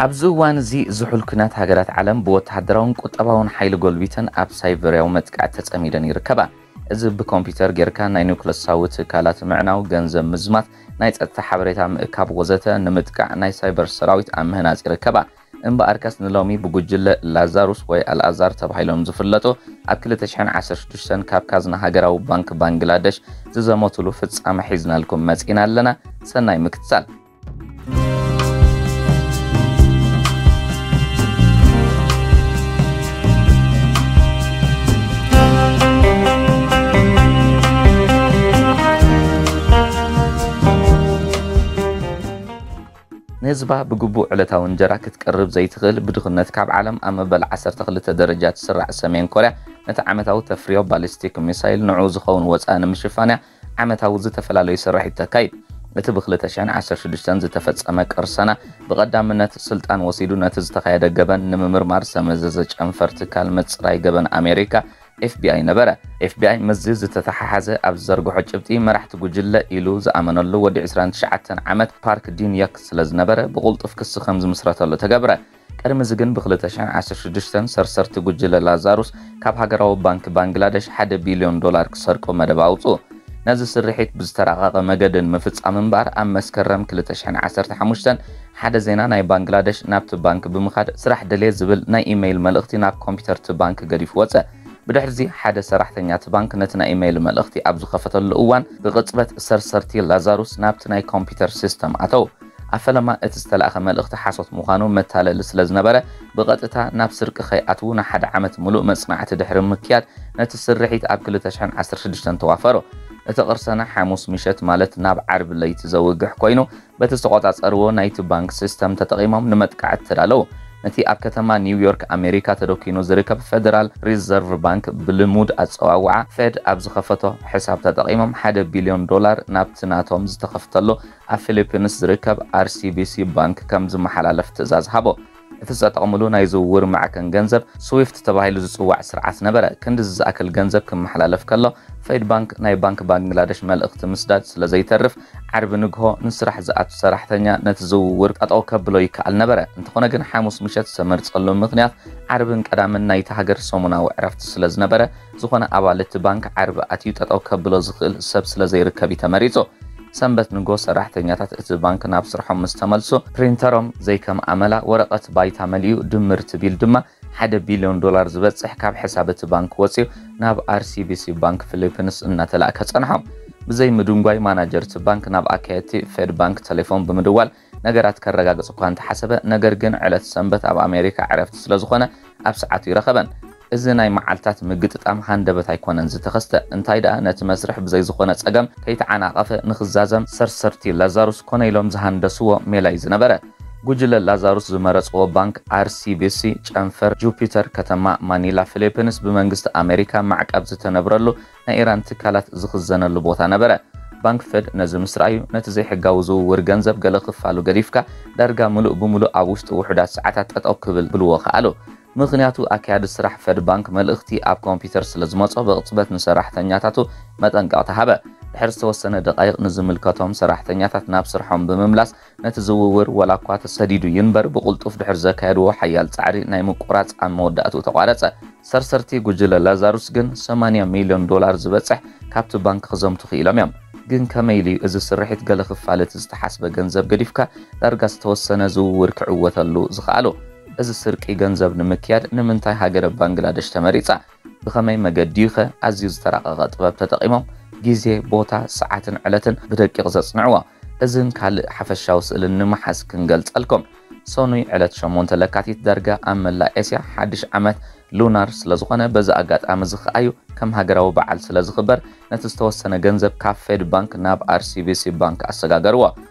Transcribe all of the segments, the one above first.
ኣብዚ እዋን እዚ ዝሑል ኲናት፣ ሃገራት ዓለም ብወተሃደራውን ቁጠባውን ሓይሊ ጎልቢተን ኣብ ሳይበርያዊ መጥቃዕቲ ተጸሚደን ይርከባ። እዚ ብኮምፒውተር ጌርካ ናይ ኒውክለሳዊ ትካላት ምዕናው፣ ገንዘብ ምዝማት፣ ናይ ጸጥታ ሓበሬታ ምእካብ ወዘተ ንምጥቃዕ ናይ ሳይበር ሰራዊት ኣብ ምህናጽ ይርከባ። እምበኣርከስ ንሎሚ ብጉጅለ ላዛሩስ ወይ ኣልኣዛር ተባሂሎም ዝፍለጡ ኣብ ክልተ ሽሕን ዓሰርተ ሽዱሽተን ካብ ካዝና ሃገራዊ ባንክ ባንግላደሽ ዝዘመቱሉ ፍጻመ ሒዝናልኩም መጺና ኣለና። ሰናይ ምክትታል። ንህዝባ ብግቡእ ዕለታዊ እንጀራ ክትቀርብ ዘይትኽእል፣ ብድኽነት ካብ ዓለም ኣብ መበል ዓሰርተ ክልተ ደረጃ ትስራዕ ሰሜን ኮርያ፣ ነቲ ዓመታዊ ተፍርዮ ባሊስቲክ ሚሳይል ንዕኡ ዝኸውን ወጻኢ ንምሽፋን እያ ዓመታዊ ዝተፈላለዩ ስራሒት ተካይድ። እቲ ብ ክልተ ሽሕን ዓሰርተ ሽዱሽተን ዝተፈጸመ ቅርሰና፣ ብቐዳምነት ስልጣን ወሲዱ ነቲ ዝተኻየደ ገበን ንምምርማር ዝተመዘዘ ጨንፈር ትካል ምጽራይ ገበን ኣሜሪካ፣ ኤፍ ቢ ኣይ ነበረ። ኤፍ ቢ ኣይ ምስዚ ዝተተሓሓዘ ኣብ ዝዘርግሖ ጭብጢ፣ መራሕቲ ጉጅለ ኢሉ ዝኣመነሉ ወዲ ዕስራን ትሽዓተን ዓመት ፓርክ ዲን ዮክ ስለ ዝነበረ፣ ብቕልጡፍ ክሲ ከም ዝምስረተሉ ተገብረ። ቅድሚ እዚ ግን ብ ክልተ ሽሕን ዓሰርተ ሽዱሽተን ሰርሰርቲ ጉጅለ ላዛሩስ ካብ ሃገራዊ ባንክ ባንግላደሽ ሓደ ቢልዮን ዶላር ክሰርቁ መደብ ኣውጽኡ። ነዚ ስርሒት ብዝተራቐቐ መገዲ ንምፍጻም እምበኣር፣ ኣብ መስከረም ክልተ ሽሕን ዓሰርተ ሓሙሽተን ሓደ ዜና ናይ ባንግላደሽ ናብቲ ባንክ ብምኻድ ስራሕ ደልየ ዝብል ናይ ኢሜይል መልእኽቲ ናብ ኮምፒውተር እቲ ባንክ ገዲፉ ወጸ። ብድሕርዚ ሓደ ሰራሕተኛ እቲ ባንክ ነቲ ናይ ኢሜይል መልእኽቲ ኣብ ዝኸፈተሉ እዋን፣ ብቕጽበት ሰርሰርቲ ላዛሩስ ናብቲ ናይ ኮምፒውተር ሲስተም ኣተው። ኣብ ፈለማ እቲ ዝተላእኸ መልእኽቲ ሓሶት ምዃኑ መታለሊ ስለ ዝነበረ፣ ብቐጥታ ናብ ስርቂ ከይኣትዉ ንሓደ ዓመት ምሉእ መጽናዕቲ ድሕሪ ምክያድ፣ ነቲ ስርሒት ኣብ ክልተ ሽሕን ዓሰርተ ሽዱሽተን ተዋፈሩ። እቲ ቅርሰና ሓሙስ ምሸት፣ ማለት ናብ ዓርቢ ለይቲ ዘውግሕ ኮይኑ፣ በቲ ዝተቖጻጸርዎ ናይቲ ባንክ ሲስተም ተጠቒሞም ንመጥቃዕቲ ተዳለዉ። ነቲ ኣብ ከተማ ኒውዮርክ ኣሜሪካ ተደኲኑ ዝርከብ ፌደራል ሪዘርቭ ባንክ፣ ብልሙድ ኣጸዋውዓ ፌድ፣ ኣብ ዝኸፈቶ ሕሳብ ተጠቒሞም ሓደ ቢልዮን ዶላር ናብቲ ናቶም ዝተኸፍተሉ ኣብ ፊሊፒንስ ዝርከብ ኣር ሲ ቢ ሲ ባንክ ከም ዝመሓላለፍ ትእዛዝ ሃቦ። እቲ ዝተጠቕምሉ ናይ ዝውውር ማዕከን ገንዘብ ስዊፍት ተባሂሉ ዝጽዋዕ ስርዓት ነበረ። ክንድዚ ዝኣክል ገንዘብ ክመሓላለፍ ከሎ፣ ፌድ ባንክ ናይ ባንክ ባንግላደሽ መልእኽቲ ምስዳድ ስለ ዘይተርፍ፣ ዓርቢ ንግሆ ንስራሕ ዝኣቱ ሰራሕተኛ ነቲ ዝውውር ጠጠው ከብሎ ይከኣል ነበረ። እንተኾነ ግን፣ ሓሙስ ምሸት ዝተመርጸሉ ምኽንያት ዓርብን ቀዳምን ናይቲ ሃገር ሰሙናዊ ዕረፍቲ ስለ ዝነበረ፣ ዝኾነ ኣባል እቲ ባንክ ዓርቢ ኣትዩ ጠጠው ከብሎ ዝኽእል ሰብ ስለ ዘይርከብ እዩ ተመሪጹ። ሰንበት ንግሆ ሰራሕተኛታት እቲ ባንክ ናብ ስርሖም ምስ ተመልሱ፣ ፕሪንተሮም ዘይከም ኣመላ ወረቐት ባይታ መሊኡ ድምር ትቢል ድማ ሓደ ቢልዮን ዶላር ዝበጽሕ ካብ ሕሳብ እቲ ባንክ ወጺኡ ናብ ኣር ሲ ቢ ሲ ባንክ ፊሊፒንስ እናተላእከ ጸንሖም። ብዘይ ምድንጓይ፣ ማናጀር እቲ ባንክ ናብ ኣካየድቲ ፌድ ባንክ ቴሌፎን ብምድዋል ነገራት ከረጋግጽ እኳ እንተሓሰበ፣ ነገር ግን ዕለት ሰንበት ኣብ ኣሜሪካ ዕረፍቲ ስለ ዝኾነ ኣብ ሰዓቱ ይረኸበን። እዚ ናይ መዓልታት ምግጥጣም ሃንደበት ኣይኮነን ዝተኸስተ። እንታይ ደኣ፣ ነቲ መስርሕ ብዘይ ዝኾነ ጸገም ከይተዓናቐፈ ንኽዛዘም ሰርሰርቲ ላዛሩስ ኮነ ኢሎም ዝሃንደስዎ ሜላ እዩ ዝነበረ። ጉጅለ ላዛሩስ ዝመረጽዎ ባንክ ኣር ሲ ቢ ሲ ጨንፈር ጁፒተር ከተማ ማኒላ ፊሊፒንስ ብመንግስቲ ኣሜሪካ ማዕቀብ ዝተነብረሉ ናይ ኢራን ትካላት ዝኽዘነሉ ቦታ ነበረ። ባንክ ፌድ ነዚ ምስ ረኣዩ፣ ነቲ ዘይሕጋዊ ዝውውር ገንዘብ ገለ ክፋሉ ገዲፍካ፣ ዳርጋ ምሉእ ብምሉእ ኣብ ውሽጢ ውሑዳት ሰዓታት ጠጠው ክብል ብልዎ ከኣሉ። ምኽንያቱ፣ ኣካያዲ ስራሕ ፌድ ባንክ መልእኽቲ ኣብ ኮምፒውተር ስለ ዝመጾ፣ ብቕጽበት ንሰራሕተኛታቱ መጠንቀቕታ ሃበ። ድሕሪ ዝተወሰነ ደቓይቕ ንዝምልከቶም ሰራሕተኛታት ናብ ስርሖም ብምምላስ፣ ነቲ ዝውውር፣ ዋላ እኳ ተሰዲዱ ይንበር፣ ብቕልጡፍ ድሕሪ ዘካየድዎ ሓያል ጻዕሪ ናይ ምቁራጽ፣ ኣብ መወዳእትኡ ተቋረጸ። ሰርሰርቲ ጉጅለ ላዛሩስ ግን ሰማንያ ሚልዮን ዶላር ዝበጽሕ ካብቲ ባንክ ክዘምቱ ክኢሎም እዮም። ግን ከመይ ኢሉ እዩ እዚ ስርሒት ገለ ክፋል እቲ ዝተሓስበ ገንዘብ ገዲፍካ ዳርጋ ዝተወሰነ ዝውውር ክዕወተሉ ዝኸኣሉ? እዚ ስርቂ ገንዘብ ንምክያድ ንምንታይ ሃገረ ባንግላደሽ ተመሪጻ? ብኸመይ መገዲ እዩ ኸ ኣዝዩ ዝተራቐቐ ጥበብ ተጠቒሞም ግዜ፣ ቦታ፣ ሰዓትን ዕለትን ብደቂቕ ዘጽንዕዎ? እዝን ካልእ ሓፈሻዊ ስእልን ንምሓዝ ክንገልጸልኩም። ሰኑይ ዕለት ሸሞንተ ለካቲት ዳርጋ ኣብ መላእ ኤስያ ሓድሽ ዓመት ሉናር ስለ ዝኾነ፣ በዚ ኣጋጣሚ እዚ ኸኣዩ ከም ሃገራዊ በዓል ስለ ዝኽበር፣ ነቲ ዝተወሰነ ገንዘብ ካብ ፌድ ባንክ ናብ ኣር ሲ ቢ ሲ ባንክ ኣሰጋገርዎ።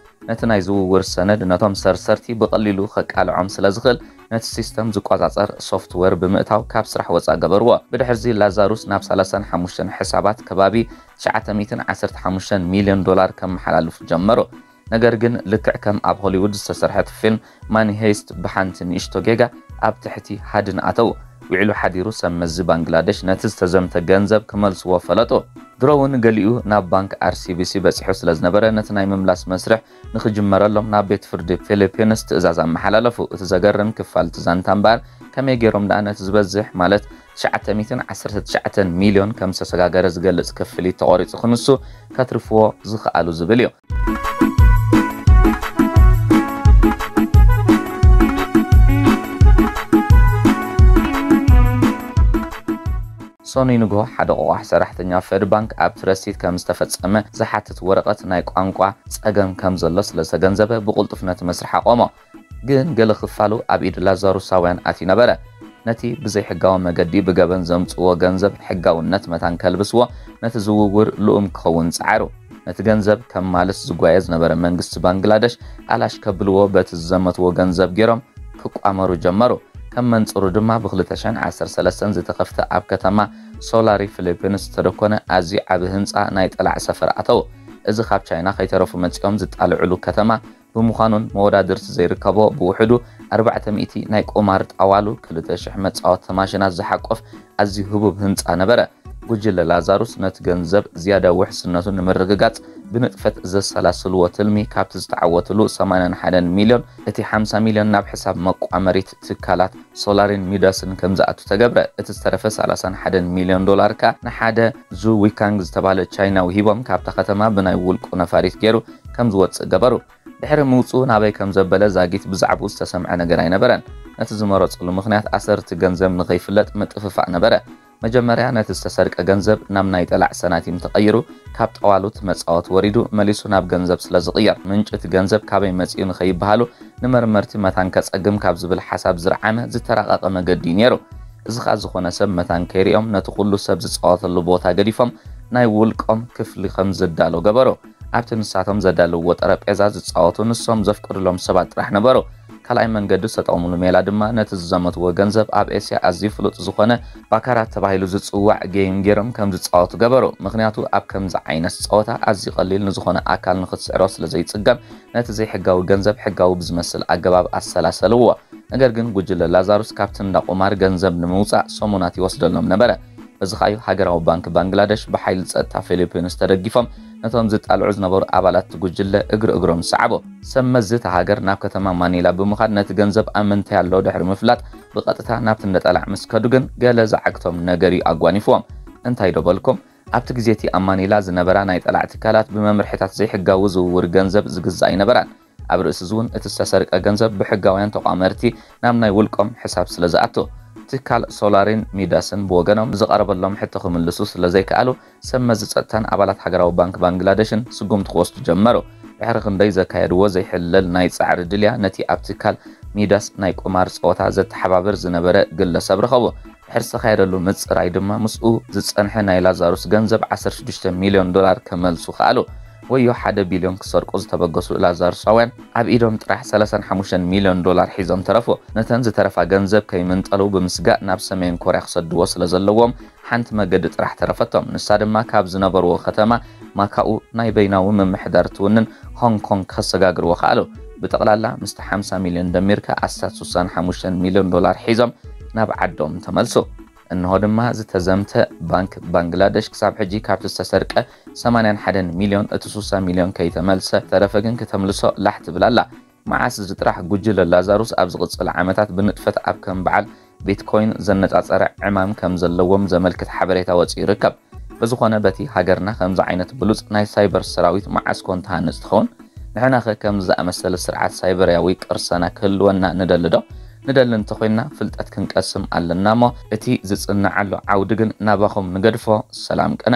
ነቲ ናይ ዝውውር ሰነድ ነቶም ሰርሰርቲ ብቐሊሉ ከቃልዖም ስለ ዝኽእል፣ ነቲ ሲስተም ዝቆጻጸር ሶፍትዌር ብምእታው ካብ ስራሕ ወጻእ ገበርዎ። ብድሕርዚ ላዛሩስ ናብ ሰላሳን ሓሙሽተን ሕሳባት ከባቢ ትሽዓተ ሚእትን ዓሰርተ ሓሙሽተን ሚልዮን ዶላር ከመሓላልፉ ጀመሩ። ነገር ግን፣ ልክዕ ከም ኣብ ሆሊውድ ዝተሰርሐት ፊልም ማኒ ሄይስት፣ ብሓንቲ ንእሽቶ ጌጋ ኣብ ትሕቲ ሃድን ኣተዉ። ውዒሉ ሓዲሩ ሰብ መዚ ባንግላደሽ ነቲ ዝተዘምተ ገንዘብ ክመልስዎ ፈለጡ። ድሮ እውን ገሊኡ ናብ ባንክ ኣር ሲ ቢ ሲ በጺሑ ስለ ዝነበረ፣ ነቲ ናይ ምምላስ መስርሕ ንኽጅመረሎም ናብ ቤት ፍርዲ ፊሊፒንስ ትእዛዝ ኣመሓላለፉ። እቲ ዘገርም ክፋል እቲ ዛንታ እምበኣር፣ ከመይ ገይሮም ደኣ ነቲ ዝበዝሕ፣ ማለት ትሽዓተ ሚእትን ዓሰርተ ትሽዓተን ሚልዮን ከም ዝተሰጋገረ ዝገልጽ ክፍሊት ተቖሪጹ ክንሱ ከትርፍዎ ዝኽኣሉ ዝብል እዩ። ሰኑይ ንግሆ ሓደ ቆቋሕ ሰራሕተኛ ፌድ ባንክ ኣብቲ ረሲት ከም ዝተፈጸመ ዝሓትት ወረቐት ናይ ቋንቋ ጸገም ከም ዘሎ ስለ ዝተገንዘበ ብቕልጡፍ ነቲ መስርሕ ኣቆሞ። ግን ገለ ክፋሉ ኣብ ኢድ ላዛሩሳውያን ኣትዩ ነበረ። ነቲ ብዘይሕጋዊ መገዲ ብገበን ዘምጽእዎ ገንዘብ ሕጋውነት መታን ከልብስዎ፣ ነቲ ዝውውር ልኡም ክኸውን ጸዓሩ። ነቲ ገንዘብ ከማልስ ዝጓየ ዝነበረ መንግስቲ ባንግላደሽ ኣላሽ ከብልዎ በቲ ዝዘመትዎ ገንዘብ ገይሮም ክቋመሩ ጀመሩ። ከም መንጽሩ ድማ ብ2013 ዝተኸፍተ ኣብ ከተማ ሶላሪ ፊሊፒንስ ዝተደኮነ ኣዝዩ ዓቢ ህንጻ ናይ ጠላዕ ሰፈር ኣተው። እዚ ካብ ቻይና ከይተረፉ መጺኦም ዝጣልዕሉ ከተማ ብምዃኑን መወዳድርቲ ዘይርከቦ ብውሕዱ ኣርባዕተ ሚእቲ ናይ ቁማር ጣዋሉ፣ ክልተ ሽሕ መጻወቲ ማሽናት ዝሓቆፍ ኣዝዩ ህቡብ ህንጻ ነበረ። ጉጅለ ላዛሩስ ነቲ ገንዘብ ዝያዳ ውሕስነቱ ንምርግጋጽ ብንጥፈት ዘሰላስልዎ ትልሚ ካብቲ ዝተዓወትሉ ሰማንያን ሓደን ሚልዮን እቲ ሓምሳ ሚልዮን ናብ ሕሳብ መቋመሪት ትካላት ሶላሪን ሚዳስን ከም ዝኣቱ ተገብረ። እቲ ዝተረፈ ሰላሳን ሓደን ሚልዮን ዶላር ከኣ ንሓደ ዙ ዊካንግ ዝተባህለ ቻይናዊ ሂቦም ካብታ ከተማ ብናይ ውልቁ ነፋሪት ገይሩ ከም ዝወጽእ ገበሩ። ድሕሪ ምውጽኡ ናበይ ከም ዘበለ ዛጊት ብዛዕባኡ ዝተሰምዐ ነገር ኣይነበረን። ነቲ ዝመረጽሉ ምኽንያት ኣሰርቲ ገንዘብ ንኸይፍለጥ ምጥፍፋእ ነበረ። መጀመርያ ነቲ ዝተሰርቀ ገንዘብ ናብ ናይ ጠላዕ ሰናቲም ተቐይሩ፣ ካብ ጠዋሉት መጻወት ወሪዱ መሊሱ ናብ ገንዘብ ስለ ዝቕየር፣ ምንጪ እቲ ገንዘብ ካበይ መጺኡ ንኸይበሃሉ ንመርመርቲ መታን ከጸግም ካብ ዝብል ሓሳብ ዝረዓመ ዝተራቐቐ መገዲ እዩ ነይሩ። እዚ ኸኣ ዝኾነ ሰብ መታን ከይሪኦም ነቲ ኩሉ ሰብ ዝጻወተሉ ቦታ ገዲፎም ናይ ውልቆም ክፍሊ ከም ዝዳሎ ገበሩ። ኣብቲ ንሳቶም ዘዳልውዎ ጠረጴዛ ዝጻወቱ ንሶም ዘፍቅድሎም ሰባት ጥራሕ ነበሩ። ካልኣይ መንገዲ ዝተጠቕምሉ ሜላ ድማ ነቲ ዝዘመትዎ ገንዘብ ኣብ ኤስያ ኣዝዩ ፍሉጥ ዝኾነ ባካራት ተባሂሉ ዝጽዋዕ ጌም ገይሮም ከም ዝጻወቱ ገበሩ። ምኽንያቱ ኣብ ከምዚ ዓይነት ጸወታ ኣዝዩ ቀሊል ንዝኾነ ኣካል ንኽትስዕሮ ስለ ዘይጽገም ነቲ ዘይሕጋዊ ገንዘብ ሕጋዊ ብዝመስል ኣገባብ ኣሰላሰልዎ። ነገር ግን ጉጅለ ላዛሩስ ካብቲ እንዳ ቁማር ገንዘብ ንምውጻእ ሰሙናት ይወስደሎም ነበረ። በዚ ኸኣዩ ሃገራዊ ባንክ ባንግላደሽ ብሓይሊ ጸጥታ ፊሊፒንስ ተደጊፎም ነቶም ዝጣልዑ ዝነበሩ ኣባላት እቲ ጉጅለ እግሪ እግሮም ሰዓቦ። ሰብ መዚ እታ ሃገር ናብ ከተማ ማኒላ ብምኻድ ነቲ ገንዘብ ኣብ ምንታይ ኣሎ ድሕሪ ምፍላጥ ብቐጥታ ናብቲ እንዳ ጠላዕ ምስ ከዱ ግን ገለ ዝዓግቶም ነገር እዩ ኣጓኒፍዎም። እንታይ ዶ በልኩም? ኣብቲ ግዜ እቲ ኣብ ማኒላ ዝነበራ ናይ ጠላዕ ትካላት ብመምርሒታት ዘይሕጋዊ ዝውውር ገንዘብ ዝግዛእ ኣይነበራን። ኣብ ርእሲ እዚ እውን እቲ ዝተሰርቀ ገንዘብ ብሕጋውያን ተቋመርቲ ናብ ናይ ውልቆም ሕሳብ ስለ ዝኣቱ፣ ትካል ሶላሪን ሚዳስን ብወገኖም ዝቐረበሎም ሕቶ ክምልሱ ስለ ዘይከኣሉ፣ ሰብ መዚ ጸጥታን ኣባላት ሃገራዊ ባንክ ባንግላደሽን ስጉምቲ ክወስዱ ጀመሩ። ድሕሪ ክንደይ ዘካየድዎ ዘይሕለል ናይ ጻዕሪ ድልያ፣ ነቲ ኣብ ትካል ሚዳስ ናይ ቁማር ጸወታ ዘተሓባብር ዝነበረ ግለሰብ ረኸቡ። ድሕሪ ዝተኻየደሉ ምጽራይ ድማ ምስኡ ዝጸንሐ ናይ ላዛሩስ ገንዘብ ዓሰርተ ሽዱሽተ ሚልዮን ዶላር ከመልሱ ከኣሉ። ወዮ ሓደ ቢልዮን ክሰርቁ ዝተበገሱ ላዛሩሳውያን ኣብ ኢዶም ጥራሕ ሰላሳን ሓሙሽተን ሚልዮን ዶላር ሒዞም ተረፉ። ነተን ዝተረፋ ገንዘብ ከይምንጠሉ ብምስጋእ ናብ ሰሜን ኮርያ ክሰድዎ ስለ ዘለዎም ሓንቲ መገዲ ጥራሕ ተረፈቶም። ንሳ ድማ ካብ ዝነበርዎ ከተማ ማካኡ ናይ በይናዊ ምምሕዳር ትውንን ሆንግ ኮንግ ከሰጋግርዎ ከኣሉ። ብጠቕላላ ምስቲ ሓምሳ ሚልዮን ደሚርካ ኣስታት ስሳን ሓሙሽተን ሚልዮን ዶላር ሒዞም ናብ ዓዶም ተመልሱ። እንሆ ድማ ዝተዘምተ ባንክ ባንግላደሽ ክሳብ ሕጂ ካብቲ ዝተሰርቀ ሰማንያን ሓደን ሚልዮን እቲ ስሳ ሚልዮን ከይተመልሰ፣ ተረፈ ግን ክተምልሶ ላሕ ትብል ኣላ። መዓስ እዚ ጥራሕ ጉጅለ ላዛሩስ ኣብ ዝቕጽል ዓመታት ብንጥፈት ኣብ ከም በዓል ቢትኮይን ዘነጻጸረ ዕማም ከም ዘለዎም ዘመልክት ሓበሬታ ወጺኡ ይርከብ። ብዝኾነ በቲ ሃገርና ከምዚ ዓይነት ብሉጽ ናይ ሳይበር ሰራዊት መዓስ ኮን ትሃንጽ ትኸውን? ንሕናኸ ከምዚ ዝኣመሰለ ስርዓት ሳይበርያዊ ቅርሰና ክህልወና ንደሊ ዶ? ንደሊ እንተኾይንና ፍልጠት ክንቀስም ኣለና እሞ እቲ ዝጽንዓሉ ዓውዲ ግን ናባኹም ንገድፎ። ሰላም ቅነ።